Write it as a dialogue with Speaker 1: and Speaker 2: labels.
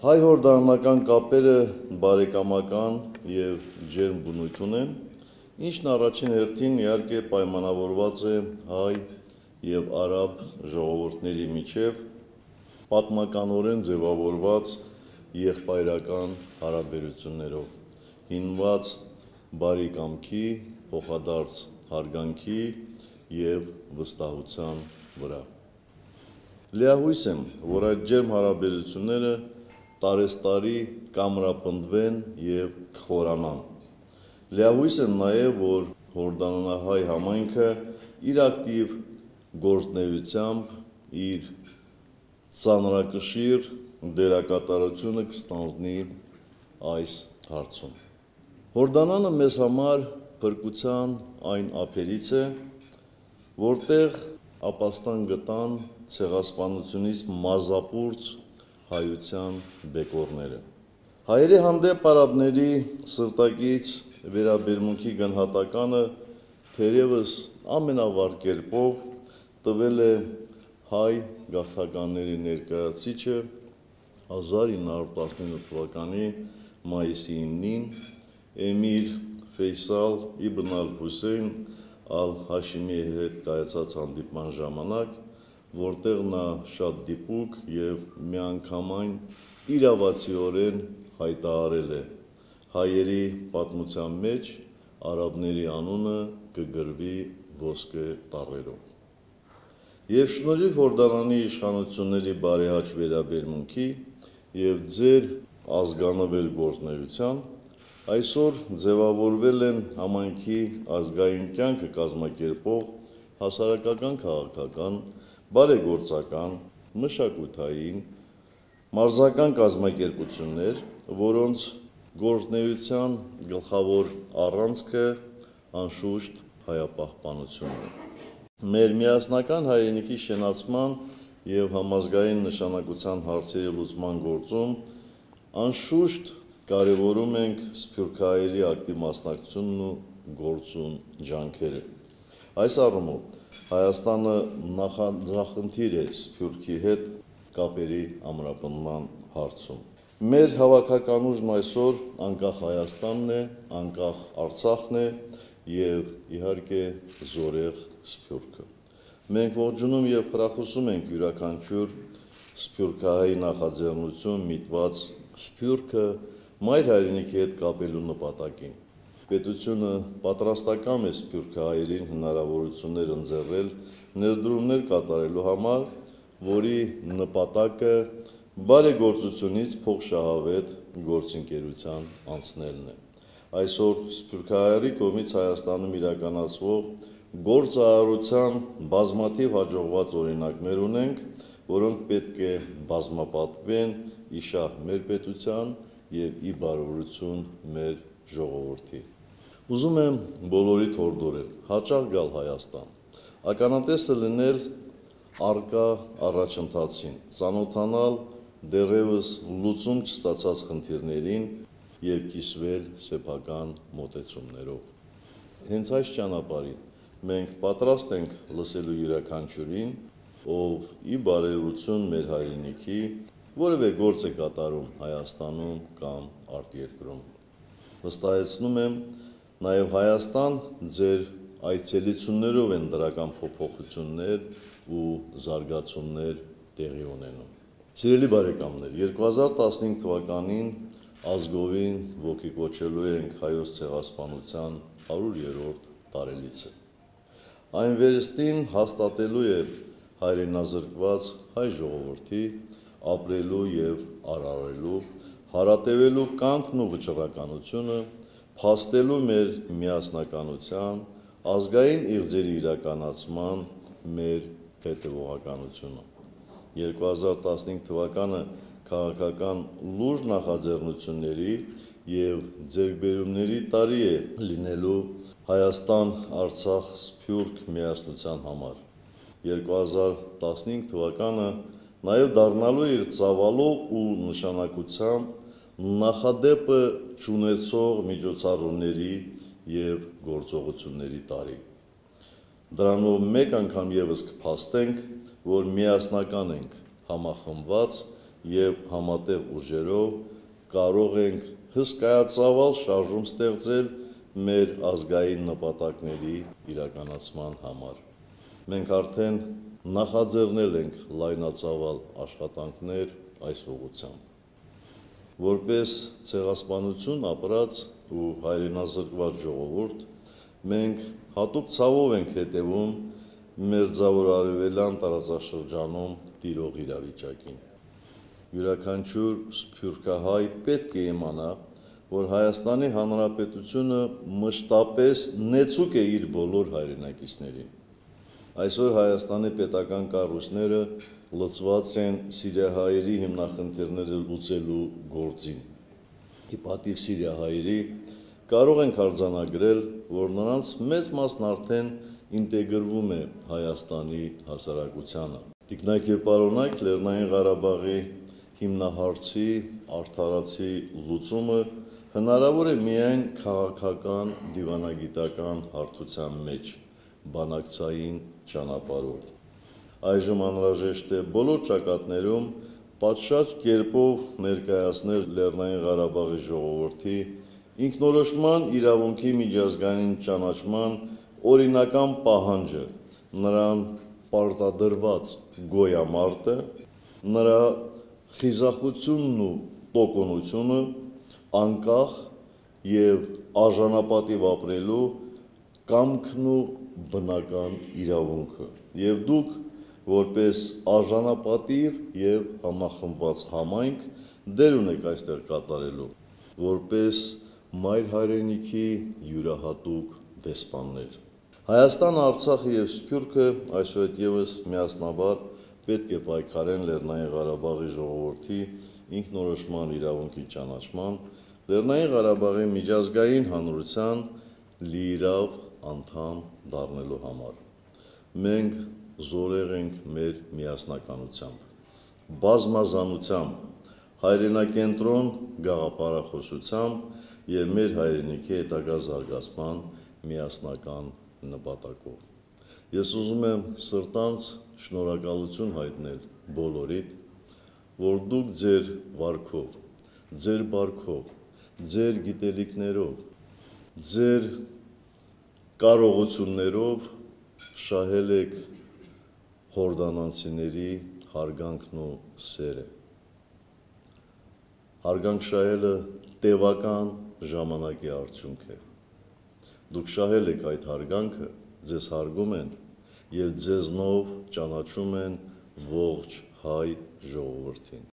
Speaker 1: Հայ-հորդանանական կապերը բարեկամական և ջերմ բնույթ ունեն, ինչն առաջին հերթին իհարկե պայմանավորված է հայ և արաբ ժողովուրդների միջև պատմականորեն ձևավորված եղբայրական հարաբերություններով, հիմնված բարի կամքի, փոխադարձ հարգանքի և վստահության վրա։ Լիահույս եմ, որ այդ ջերմ հարաբերությունները տարեցտարի կամրապնդվեն և կխորանան։ Լիահույս եմ նաև, որ հորդանանահայ համայնքը իր ակտիվ գործունեությամբ իր ծանրակշիռ դերակատարությունը կստանձնի այս հարցում։ Հորդանանը մեզ համար փրկության այն ափերից է, որտեղ ապաստան գտան ցեղասպանությունից մազապուրծ հայության բեկորները։ Հայերի հանդեպ արաբների սրտակից վերաբերմունքի գնահատականը թերևս ամենավառ կերպով տվել է հայ գաղթականների ներկայացուցիչը 1919 թվականի մայիսի 9-ին Էմիր Ֆեյսալ Իբն ալ-Հուսեյն ալ-Հաշիմիի հետ կայացած հանդիպման ժամանակ, որտեղ նա շատ դիպուկ և միանգամայն իրավացիորեն հայտարարել է. հայերի պատմության մեջ արաբների անունը կգրվի ոսկե տառերով։ Եվ շնորհիվ Հորդանանի իշխանությունների բարեհաճ վերաբերմունքի և ձեր ազգանվեր գործունեության, այսօր ձևավորվել են համայնքի ազգային կյանքը կազմակերպող հասարակական, քաղաքական, բարեգործական, մշակութային, մարզական կազմակերպություններ, որոնց գործունեության գլխավոր առանցքը անշուշտ հայապահպանությունն է։ Մեր միասնական հայրենիքի շենացման և համազգային նշանակության հարցերի լուծման գործում անշուշտ կարևորում ենք սփյուռքահայերի ակտիվ մասնակցությունն ու գործուն ջանքերը։ Այս առումով Հայաստանը նախախնդիր է Սփյուռքի հետ կապերի ամրապնդման հարցում։ Մեր հավաքական ուժն այսօր անկախ Հայաստանն է, անկախ Արցախն է և իհարկե զորեղ Սփյուռքը։ Մենք ողջունում և խրախուսում ենք յուրաքանչյուր սփյուռքահայի նախաձեռնություն միտված Սփյուռքը մայր հայրենիքի հետ կապելու նպատակին։ Պետությունը պատրաստական է սփյուռքահայերին հնարավորություններ ընձեռել ներդրումներ կատարելու համար, որի նպատակը բարեգործությունից փոխշահավետ գործընկերության անցնելն է։ Այսօր սփյուռքահայերի կողմից Հայաստանում իրականացվող գործարարության բազմաթիվ հաջողված օրինակներ ունենք, որոնք պետք է բազմապատկվեն ի շահ մեր պետության և ի բարօրություն մեր ժողովրդի։ Ուզում եմ բոլորիդ հորդորել հաճախ գալ Հայաստան, ականատեսը լինել առկա առաջընթացին, ծանոթանալ դեռևս լուծում չստացած խնդիրներին և կիսվել սեփական մոտեցումներով։ Հենց այս ճանապարհին մենք պատրաստ ենք լսելու յուրաքանչյուրին, ով ի բարերություն մեր հայրենիքի որևէ գործ է կատարում Հայաստանում կամ արտերկրում։ Վստահեցնում եմ, նաև Հայաստան ձեր այցելություններով են դրական փոփոխություններ ու զարգացումներ տեղի ունենում։ Սիրելի բարեկամներ, 2015 թվականին ազգովին ոգեկոչելու ենք հայոց ցեղասպանության 100-րդ տարելիցը։ Այն վերստին հաստատելու է հայրենազրկված հայ ժողովրդի ապրելու և արարելու, հարատևելու կամքն ու վճռականությունը, փաստելու մեր միասնականության, ազգային իղձերի իրականացման մեր հետևողականությունը։ 2015 թվականը քաղաքական լուրջ նախաձեռնությունների և ձեռքբերումների տարի է լինելու Հայաստան-Արցախ-Սփյուռք միասնության համար։ 2015 թվականը նաև դառնալու է իր ծավալով ու նշանակությամբ նախադեպը չունեցող միջոցառումների և գործողությունների տարի։ Դրանով մեկ անգամ ևս կփաստենք, որ միասնական ենք, համախմբված և համատեղ ուժերով կարող ենք հսկայածավալ շարժում ստեղծել մեր ազգային նպատակների իրականացման համար։ Մենք արդեն նախաձեռնել ենք լայնածավալ աշխատանքներ այս ուղղությամբ։ Որպես ցեղասպանություն ապրած ու հայրենազրկված ժողովուրդ, մենք հատուկ ցավով ենք հետևում Մերձավոր Արևելյան տարածաշրջանում տիրող իրավիճակին։ Յուրաքանչյուր սփյուռքահայ պետք է իմանա, որ Հայաստանի Հանրապետությունը մշտապես նեցուկ է իր բոլոր հայրենակիցներին։ Այսօր Հայաստանի պետական կառույցները լծված են սիրիահայերի հիմնախնդիրները լուծելու գործին։ Ի պատիվ սիրիահայերի կարող ենք արձանագրել, որ նրանց մեծ մասն արդեն ինտեգրվում է Հայաստանի հասարակությանը։ Տիկնակ և պարոնայք, Լեռնային Ղարաբաղի հիմնահարցի արդարացի լուծումը հնարավոր է միայն քաղաքական, դիվանագիտական հարթության մեջ, բանակցային ճանապարհով։ Այժմ անհրաժեշտ է բոլոր ճակատներում պատշաճ կերպով ներկայացնել Լեռնային Ղարաբաղի ժողովրդի ինքնորոշման իրավունքի միջազգային ճանաչման օրինական պահանջը, նրան պարտադրված գոյամարտը, նրա խիզախությունն ու տոկունությունը, անկախ և արժանապատիվ ապրելու կամքն ու բնական իրավունքը, և դուք, որպես արժանապատիվ և համախմբված համայնք, դեր ունեք այստեղ կատարելու, որպես մայր հայրենիքի յուրահատուկ դեսպաններ։ Հայաստանը, Արցախը և Սփյուռքը այսուհետևս միասնաբար պետք է պայքարեն Լեռնային Ղարաբաղի ժողովրդի ինքնորոշման իրավունքի ճանաչման, Լեռնային Ղարաբաղի միջազգային հանրության լիիրավ անդամ դառնալու համար։ Մենք զորեղ ենք մեր միասնականությամբ, բազմազանությամբ, հայրենակենտրոն գաղափարախոսությամբ և մեր հայրենիքի հետագա զարգացման միասնական նպատակով։ Ես ուզում եմ սրտանց շնորհակալություն հայտնել բոլորիդ, որ դուք ձեր վարքով, ձեր բարքով, ձեր գիտելիքներով, ձեր կարողություններով շահել եք հորդանանցիների հարգանքն ու սերը։ Հարգանք շահելը տևական ժամանակի արդյունք է։ Դուք շահել եք այդ հարգանքը, ձեզ հարգում են և ձեզնով ճանաչում են ողջ հայ ժողովրդին։